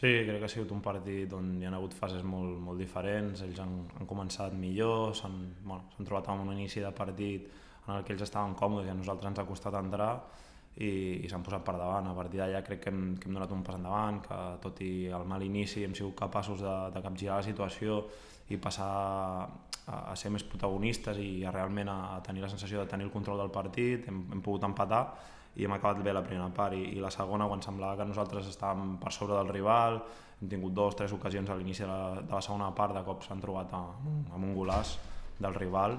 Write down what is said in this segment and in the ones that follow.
Sí, crec que ha sigut un partit on hi ha hagut fases molt diferents, ells han començat millor, s'han trobat amb un inici de partit en el que ells estaven còmodes i a nosaltres ens ha costat entrar i s'han posat per davant. A partir d'allà crec que hem donat un pas endavant, que tot i el mal inici hem sigut capaços de capgirar la situació i passar a ser més protagonistes i realment a tenir la sensació de tenir el control del partit, hem pogut empatar i hem acabat bé la primera part i la segona, quan semblava que nosaltres estàvem per sobre del rival, hem tingut 2 o 3 ocasions a l'inici de la segona part, de cop s'han trobat amb un golaç del rival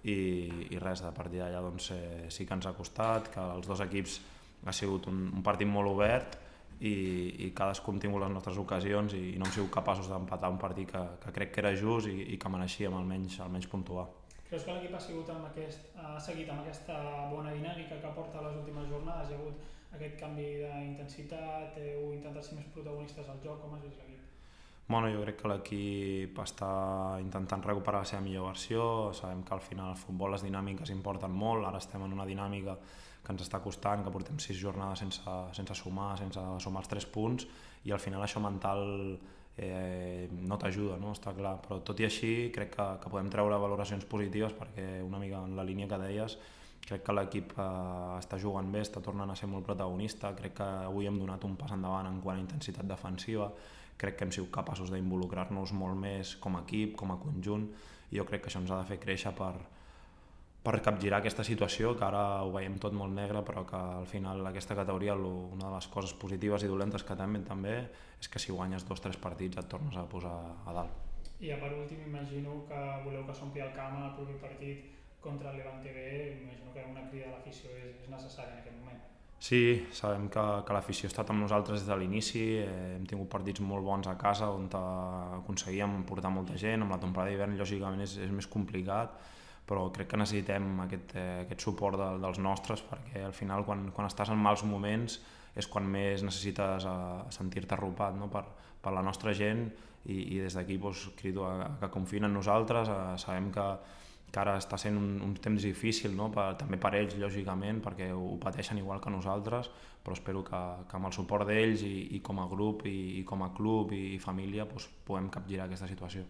i res, a partir d'allà doncs, sí que ens ha costat, que els dos equips ha sigut un partit molt obert i cadascú hem tingut les nostres ocasions i no hem sigut capaços d'empatar un partit que crec que era just i que mereixíem almenys puntuar. Creus que l'equip ha seguit amb aquesta bona dinàmica que porta les últimes jornades? Hi ha hagut aquest canvi d'intensitat, heu intentat ser més protagonistes al joc, com has vist l'equip? Bueno, jo crec que l'equip està intentant recuperar la seva millor versió, sabem que al final al futbol les dinàmiques importen molt, ara estem en una dinàmica que ens està costant, que portem 6 jornades sense sumar els 3 punts i al final això mental no t'ajuda, no? Està clar, però tot i així crec que podem treure valoracions positives perquè una mica en la línia que deies crec que l'equip està jugant bé, està tornant a ser molt protagonista, crec que avui hem donat un pas endavant en quant a intensitat defensiva, crec que hem sigut capaços d'involucrar-nos molt més com a equip, com a conjunt i jo crec que això ens ha de fer créixer per capgirar aquesta situació, que ara ho veiem tot molt negre, però que al final aquesta categoria una de les coses positives i dolentes que també és que si guanyes 2 o 3 partits et tornes a posar a dalt. I per últim, imagino que voleu que s'ompli el camp en el proper partit contra el Levante B, imagino que una crida a l'afició és necessària en aquest moment. Sí, sabem que l'afició ha estat amb nosaltres des de l'inici, hem tingut partits molt bons a casa on aconseguíem portar molta gent, amb la temporada d'hivern lògicament és més complicat, però crec que necessitem aquest suport dels nostres perquè al final quan estàs en mals moments és quan més necessites sentir-te arropat, no? per la nostra gent i des d'aquí crido que confiïn en nosaltres, sabem que ara està sent un temps difícil, no? També per ells lògicament perquè ho pateixen igual que nosaltres, però espero que amb el suport d'ells i com a grup i com a club i família puguem capgirar aquesta situació.